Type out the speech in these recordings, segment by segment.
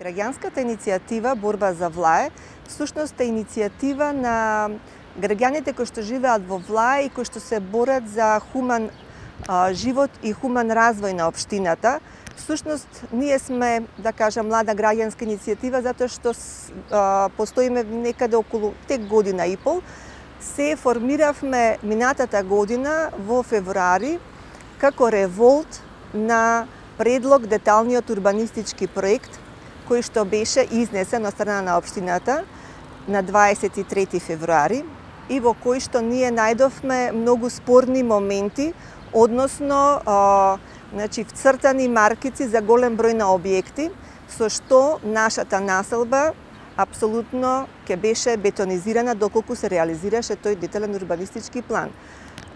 Граѓанската иницијатива Борба за Влае всушност е иницијатива на граѓаните кои што живеат во Влае и кои што се борат за хуман живот и хуман развој на општината. Всушност, ние сме, да кажам, млада граѓанска иницијатива затоа што постоиме некаде околу тек година и пол. Се формиравме минатата година во февруари како револт на предлог деталниот урбанистички проект кој што беше изнесен од страна на општината на 23 февруари и во кој што ние најдовме многу спорни моменти, односно вцртани маркици за голем број на објекти, со што нашата населба апсолутно ќе беше бетонизирана доколку се реализираше тој детален урбанистички план.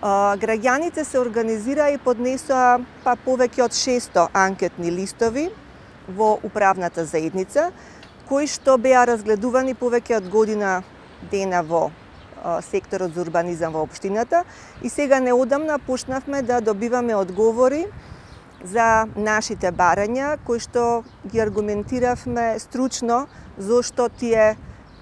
Граѓаните се организираа и поднесоа повеќе од 600 анкетни листови во управната заедница, кои што беа разгледувани повеќе од година дена во секторот за урбанизам во општината и сега неодамна почнавме да добиваме одговори за нашите барања, кои што ги аргументиравме стручно зошто тие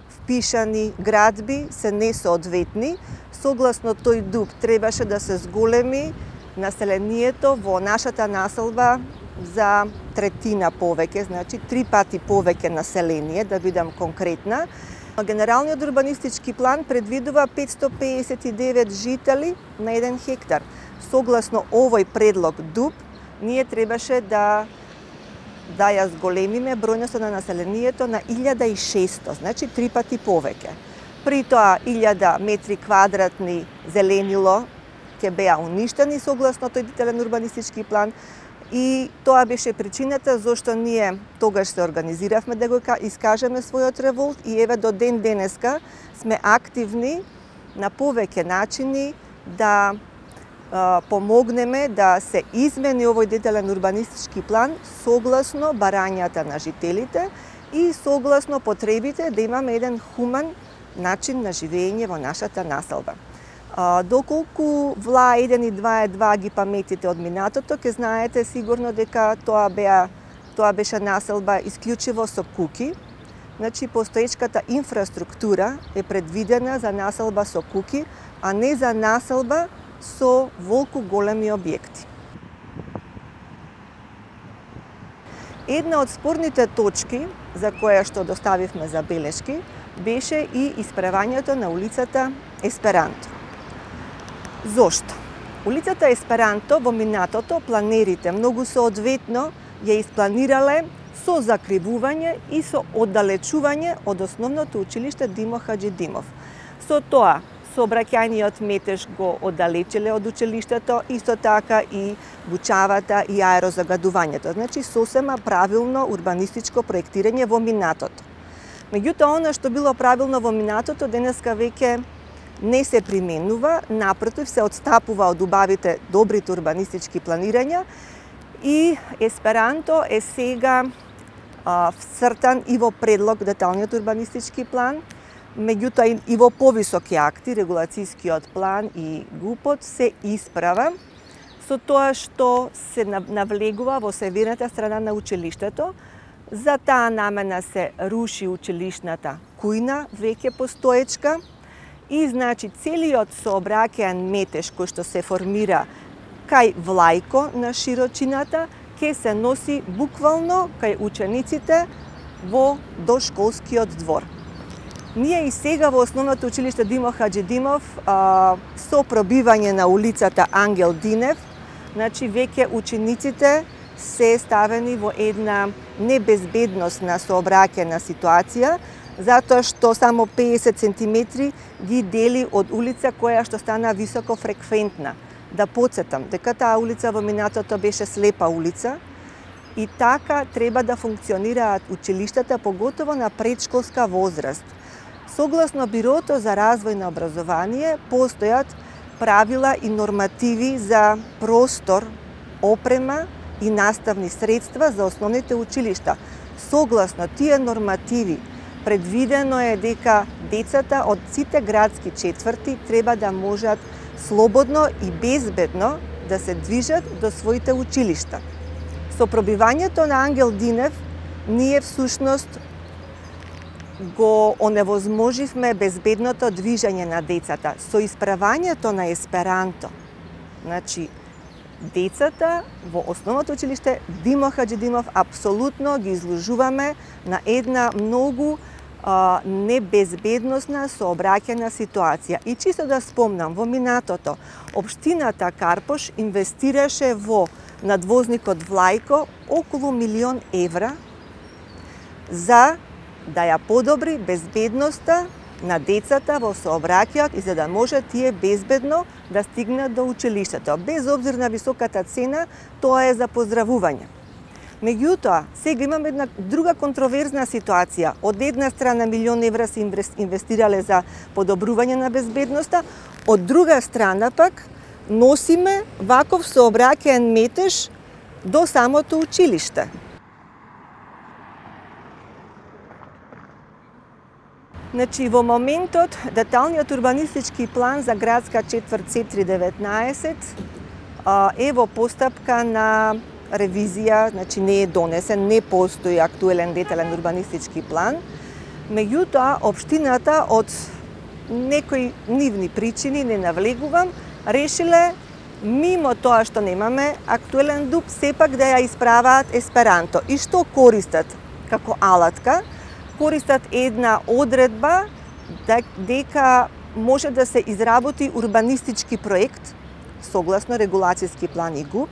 впишани градби се несоодветни. Согласно тој дуб требаше да се зголеми населението во нашата населба за третина повеќе, значи 3 пати повеќе население, да бидам конкретна. Генералниот урбанистички план предвидува 559 жители на 1 хектар. Согласно овој предлог дуб, ние требаше да ја зголемиме бројноста на населението на 1600, значи 3 пати повеќе. При тоа 1000 метри квадратни зеленило ќе беа уништени согласно тој детален урбанистички план и тоа беше причината зашто ние тогаш се организиравме да го искажеме својот револт и еве до ден денеска сме активни на повеќе начини да помогнеме да се измени овој детален урбанистички план согласно барањата на жителите и согласно потребите да имаме еден хуман начин на живење во нашата населба. Доколку Влаа 1 и 2 е 2 ги паметите од минатото, ќе знаете сигурно дека тоа беше населба исклучиво со куќи. Значи, постоечката инфраструктура е предвидена за населба со куќи, а не за населба со волку големи објекти. Една од спорните точки за која што доставивме забелешки беше и исправањето на улицата Есперанто. Зошто? Улицата Есперанто во минатото планерите многу соодветно ја испланирале со закривување и со оддалечување од основното училиште Димо Хаџидимов. Со тоа, сообраќајниот метеж го оддалечиле од училиштето, исто така и бучавата и аерозагадувањето. Значи, сосема правилно урбанистичко проектирање во минатото. Меѓутоа, она што било правилно во минатото, денеска веќе не се применува, напротив се отстапува од убавите добрите урбанистички планирања и Есперанто е сега всртан и во предлог деталниот урбанистички план, меѓутоа и во повисоки акти, регулацијскиот план и ГУПот се исправа со тоа што се навлегува во северната страна на училиштето. За таа намена се руши училишната кујна, веќе постоечка, и значи целиот сообраќаен метеж кој што се формира кај Влајко на широчината ќе се носи буквално кај учениците во дошколскиот двор. Ние и сега во основното училиште Димо Хаџидимов со пробивање на улицата Ангел Динев, значи веќе учениците се ставени во една небезбедносна сообраќајна ситуација, затоа што само 50 сантиметри ги дели од улица која што стана високо фреквентна. Да потсетам дека таа улица во минатото беше слепа улица и така треба да функционираат училиштата, поготово на предшколска возраст. Согласно Бирото за развој на образование, постојат правила и нормативи за простор, опрема и наставни средства за основните училишта. Согласно тие нормативи, предвидено е дека децата од сите градски четврти треба да можат слободно и безбедно да се движат до своите училишта. Со пробивањето на Ангел Динев ние всушност го оневозможивме безбедното движење на децата со исправањето на есперанто. Значи, децата во основното училиште Димо Хаџидимов апсолутно ги изложуваме на една многу небезбедносна сообраќајна ситуација. И чисто да спомнам, во минатото, општината Карпош инвестираше во надвозникот Влајко околу 1.000.000 евра за да ја подобри безбедноста на децата во сообраќајот и за да може тие безбедно да стигнат до училиштето. Без обзир на високата цена, тоа е за поздравување. Меѓутоа, сега имаме една друга контроверзна ситуација. Од една страна 1.000.000 евра се инвестирале за подобрување на безбедноста, од друга страна пак носиме ваков сообраќаен метеж до самото училиште. Значи, во моментот, деталниот урбанистички план за градска четврт C319 е во постапка на ревизија, значи не е донесен, не постои актуелен детален урбанистички план. Меѓутоа, општината од некои нивни причини, не навлегувам, решиле мимо тоа што немаме актуелен ДУП, сепак да ја исправаат есперанто. И што користат како алатка? Користат една одредба дека може да се изработи урбанистички проект согласно регулацијски план и ГУП,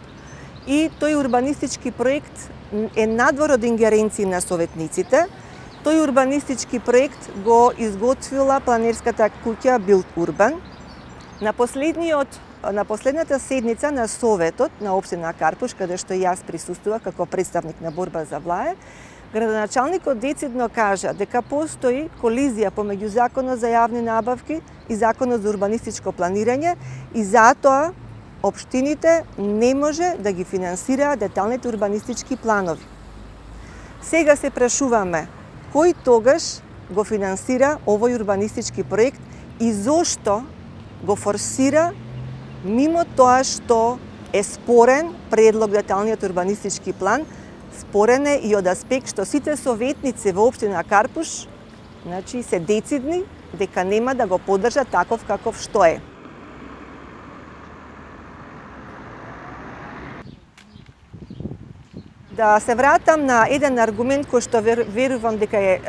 и тој урбанистички проект е надвор од ингеренции на советниците. Тој урбанистички проект го изготвила планерската куќа Билд Урбан. На последната седница на Советот на општина Карпош, каде што јас присуствував како представник на борба за влае, градоначалникот децидно кажа дека постои колизија помеѓу Законот за јавни набавки и Законот за урбанистичко планирање и затоа општините не може да ги финансираат деталните урбанистички планови. Сега се прашуваме кој тогаш го финансира овој урбанистички проект и зошто го форсира мимо тоа што е спорен предлог деталниот урбанистички план. Спорен е и од аспект што сите советници во општина Карпош, значи, се децидни дека нема да го поддржат таков каков што е. Да се вратам на еден аргумент кој што верувам дека е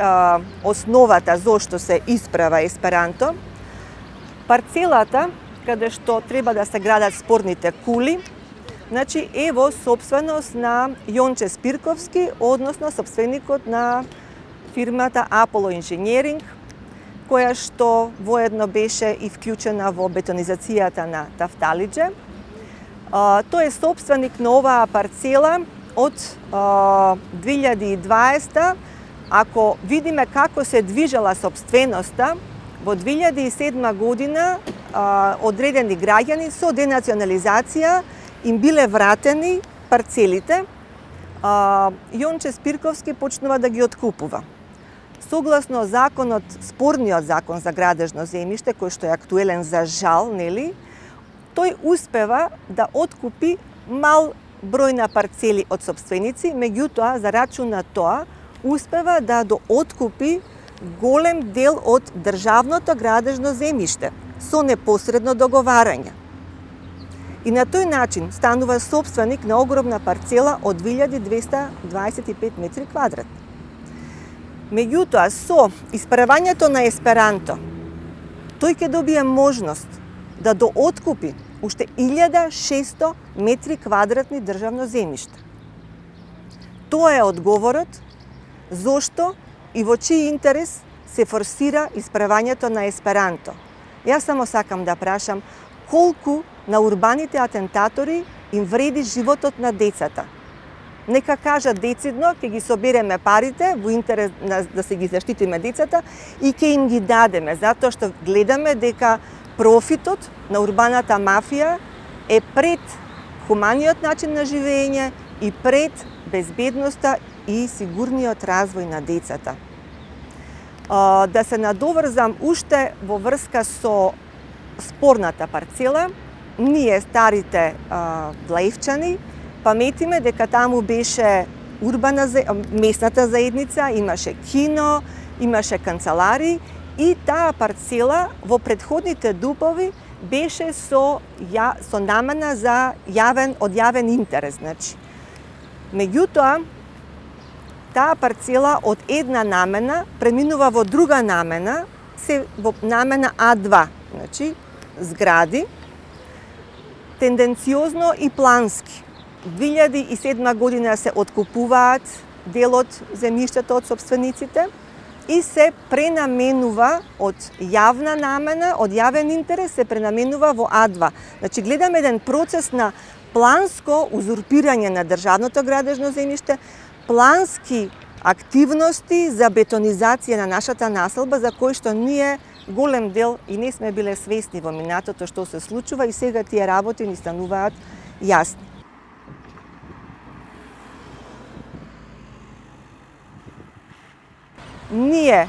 основата зошто се исправа есперанто. Парцелата каде што треба да се градат спорните кули, значи е во собственост на Јонче Спирковски, односно собственикот на фирмата Аполо Инженеринг, која што воедно беше и вклучена во бетонизацијата на Тафталиџе. Тој е собственик на оваа парцела од 2020. Ако видиме како се движала собственоста, во 2007 година одредени граѓани со денационализација им биле вратени парцелите. Јонче Спирковски почнува да ги откупува. Согласно законот, спорниот закон за градежно земјиште, кој што е актуелен за жал, нели, тој успева да откупи мал број на парцели од собственици, меѓутоа, за рачун на тоа, успева да дооткупи голем дел од државното градежно земјиште со непосредно договарање. И на тој начин станува собственик на огромна парцела од 2225 метри квадратни. Меѓутоа, со исправањето на есперанто, тој ќе добие можност да дооткупи уште 1600 метри квадратни државно земјиште. Тоа е одговорот зошто и во чиј интерес се форсира исправањето на есперанто. Јас само сакам да прашам колку на урбаните атентатори им вреди животот на децата. Нека кажат децидно, ќе ги собереме парите во интерес да се ги заштитиме децата и ќе им ги дадеме, затоа што гледаме дека профитот на урбаната мафија е пред хуманиот начин на живење и пред безбедноста и сигурниот развој на децата. Да се надоврзам уште во врска со спорната парцела, ние старите влаевчани паметиме дека таму беше местната заедница, имаше кино, имаше канцелари и таа парцела во претходните дубови беше со намена за јавен интерес, значи. Меѓутоа, таа парцела од една намена преминува во друга намена, во намена А2, значи згради, тенденциозно и плански. 2007 година се откупуваат дел од земјиштето од собствениците и се пренаменува од јавна намена, од јавен интерес се пренаменува во А2. Значи гледаме еден процес на планско узурпирање на државното градежно земјиште, плански активности за бетонизација на нашата населба, за кои што ние голем дел и не сме биле свесни во минатото што се случува и сега тие работи ни стануваат јасни. Ние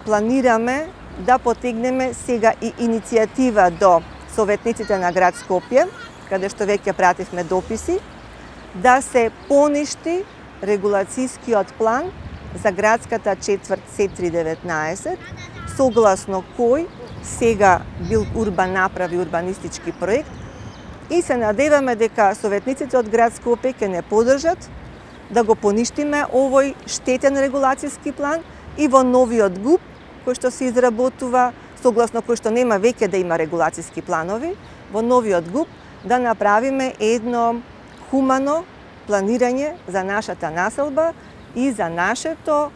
планираме да потегнеме сега и иницијатива до советниците на град Скопје, каде што веќе пративме дописи, да се поништи регулацијскиот план за градската четврт С319, согласно кој сега Билурбан направи урбанистички проект и се надеваме дека советниците од град Скопје ќе не подржат да го поништиме овој штетен регулацијски план и во новиот ГУП, кој што се изработува, согласно кој што нема веќе да има регулацијски планови, во новиот ГУП да направиме едно хумано планирање за нашата населба и за нашето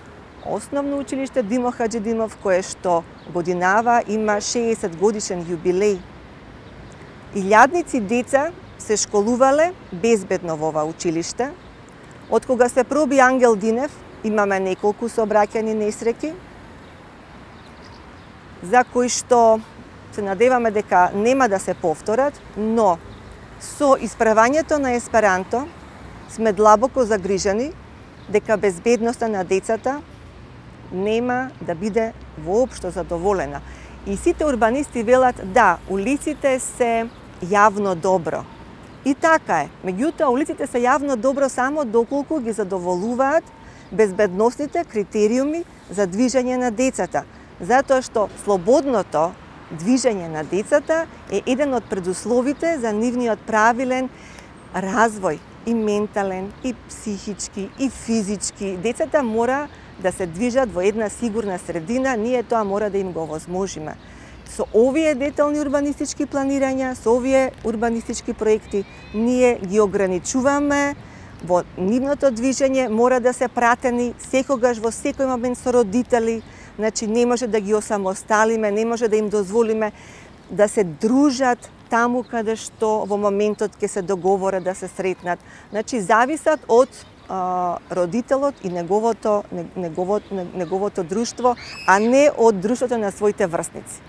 основно училиште Димо Хаџидимов, кое што годинава има 60 годишен јубилеј. Илјадници деца се школувале безбедно во ова училиште. Од кога се проби Ангел Динев, имаме неколку сообраќајни несреќи, за кои што се надеваме дека нема да се повторат, но со исправањето на есперанто сме длабоко загрижени дека безбедноста на децата нема да биде воопшто задоволена. И сите урбанисти велат да, улиците се јавно добро. И така е. Меѓутоа, улиците се јавно добро само доколку ги задоволуваат безбедносните критериуми за движење на децата. Затоа што слободното движење на децата е еден од предусловите за нивниот правилен развој, и ментален, и психички, и физички. Децата мора да се движат во една сигурна средина, ние тоа мора да им го овозможиме. Со овие детални урбанистички планирања, со овие урбанистички проекти, ние ги ограничуваме во нивното движење, мора да се пратени секогаш во секој момент со родители, значи не може да ги осамосталиме, не може да им дозволиме да се дружат таму каде што во моментот ќе се договорат да се сретнат. Значи зависат од родителот и неговото друштво, а не од друштвото на своите врсници.